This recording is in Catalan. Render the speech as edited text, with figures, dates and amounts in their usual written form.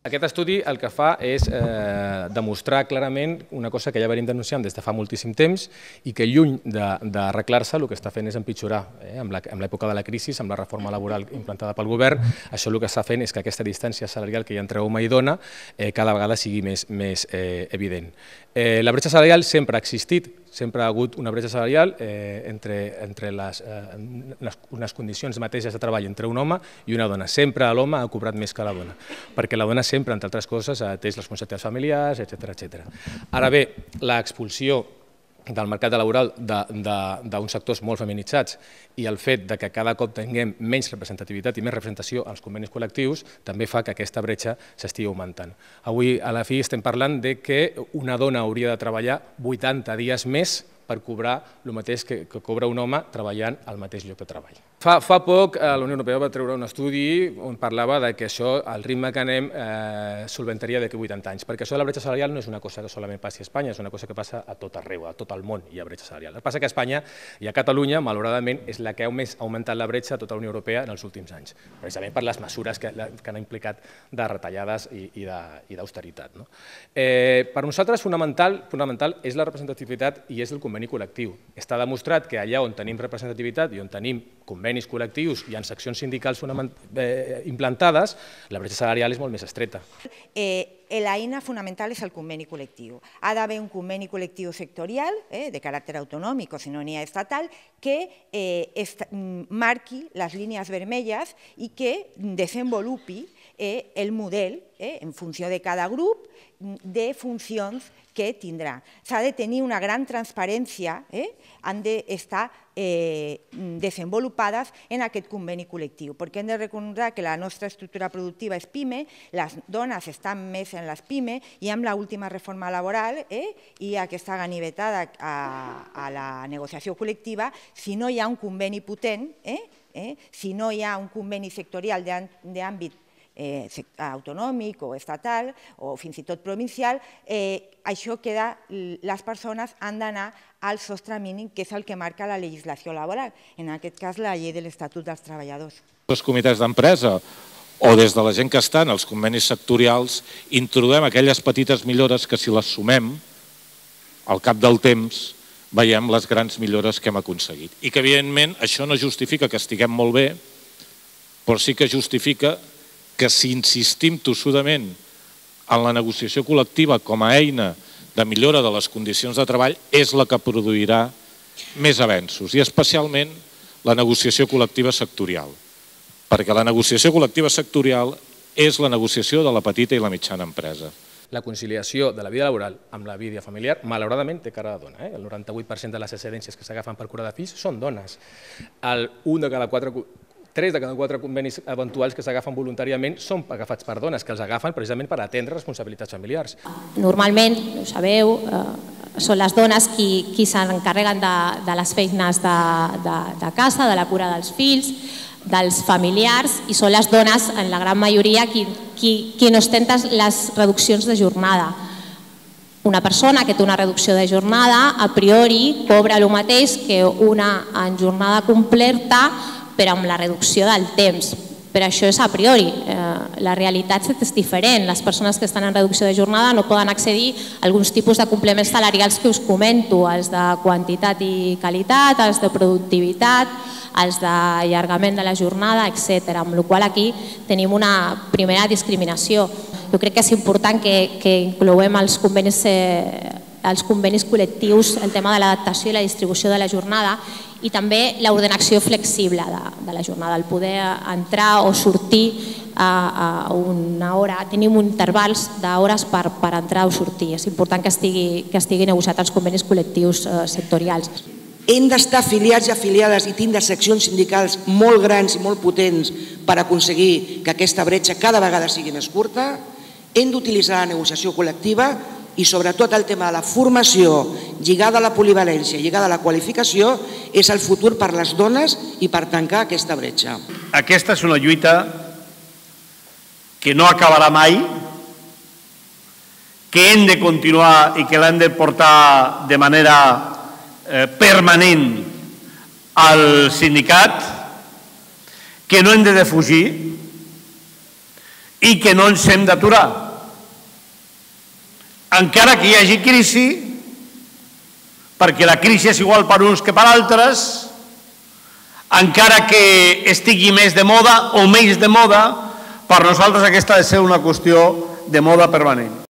Aquest estudi el que fa és demostrar clarament una cosa que ja venim denunciant des de fa moltíssim temps i que lluny d'arreglar-se el que està fent és empitjorar. Amb l'època de la crisi, amb la reforma laboral implantada pel govern, això el que està fent és que aquesta distància salarial que hi ha entre home i dona cada vegada sigui més evident. La bretxa salarial sempre ha existit, sempre ha hagut una bretxa salarial entre unes condicions mateixes de treball entre un home i una dona. Sempre l'home ha cobrat més que la dona, perquè la dona sempre, entre altres coses, ha atès les responsabilitats familiars, etc. Ara bé, l'expulsió del mercat laboral d'uns sectors molt feminitzats i el fet que cada cop tinguem menys representativitat i més representació als convenis col·lectius també fa que aquesta bretxa s'estigui augmentant. Avui a la fi estem parlant que una dona hauria de treballar 80 dies més per cobrar el mateix que cobra un home treballant al mateix lloc de treball. Fa poc la Unió Europea va treure un estudi on parlava que això, al ritme que anem, solventaria d'aquí 80 anys, perquè això de la bretxa salarial no és una cosa que solament passi a Espanya, és una cosa que passa a tot arreu, a tot el món hi ha bretxa salarial. El que passa que a Espanya i a Catalunya, malauradament, és la que ha més augmentat la bretxa a tota la Unió Europea en els últims anys, precisament per les mesures que han implicat de retallades i d'austeritat. Per nosaltres fonamental és la representativitat i és el conveni col·lectiu. Està demostrat que allà on tenim representativitat i on tenim convenis col·lectius i en seccions sindicals implantades, la bretxa salarial és molt més estreta. L'eina fonamental és el conveni col·lectiu. Ha d'haver un conveni col·lectiu sectorial, de caràcter autonòmic o si no n'hi ha estatal, que marqui les línies vermelles i que desenvolupi el model en funció de cada grup de funcions que tindrà. S'ha de tenir una gran transparència, han d'estar desenvolupades en aquest conveni col·lectiu, perquè hem de recordar que la nostra estructura productiva és PIME, les dones estan més en les PIME i amb l'última reforma laboral i aquesta ganivetada a la negociació col·lectiva, si no hi ha un conveni potent, si no hi ha un conveni sectorial d'àmbit autonòmic o estatal o fins i tot provincial, això queda, les persones han d'anar al sostre mínim, que és el que marca la legislació laboral, en aquest cas la llei de l'Estatut dels Treballadors. Els comitès d'empresa o des de la gent que està en els convenis sectorials introduïm aquelles petites millores que si les sumem al cap del temps veiem les grans millores que hem aconseguit. I que evidentment això no justifica que estiguem molt bé, però sí que justifica que si insistim tossudament en la negociació col·lectiva com a eina de millora de les condicions de treball és la que produirà més avenços, i especialment la negociació col·lectiva sectorial, perquè la negociació col·lectiva sectorial és la negociació de la petita i la mitjana empresa. La conciliació de la vida laboral amb la vida familiar, malauradament, té cara de dona. El 98% de les excedències que s'agafen per cura de fills són dones. 3 de cada 4 convenis eventuals que s'agafen voluntàriament són agafats per dones, que els agafen precisament per atendre responsabilitats familiars. Normalment, ho sabeu, són les dones qui s'encarreguen de les feines de casa, de la cura dels fills, dels familiars, i són les dones, en la gran majoria, qui no ostenten les reduccions de jornada. Una persona que té una reducció de jornada, a priori, cobra el mateix que una en jornada completa, però amb la reducció del temps. Però això és a priori. La realitat és diferent. Les persones que estan en reducció de jornada no poden accedir a alguns tipus de complements salarials que us comento, els de quantitat i qualitat, els de productivitat, els d'allargament de la jornada, etc. Amb la qual cosa aquí tenim una primera discriminació. Jo crec que és important que incloem als convenis col·lectius el tema de l'adaptació i la distribució de la jornada i també l'ordenació flexible de la jornada, el poder entrar o sortir a una hora. Tenim intervals d'hores per entrar o sortir. És important que estigui negociat als convenis col·lectius sectorials. Hem d'estar afiliats i afiliades i tindre seccions sindicals molt grans i molt potents per aconseguir que aquesta bretxa cada vegada sigui més curta. Hem d'utilitzar la negociació col·lectiva i sobretot el tema de la formació lligada a la polivalència, lligada a la qualificació, és el futur per les dones i per tancar aquesta bretxa. Aquesta és una lluita que no acabarà mai, que hem de continuar i que l'hem de portar de manera permanent al sindicat, que no hem de defugir, i que no ens hem d'aturar. Encara que hi hagi crisi, perquè la crisi és igual per uns que per altres, encara que estigui més de moda o menys de moda, per nosaltres aquesta ha de ser una qüestió de moda permanent.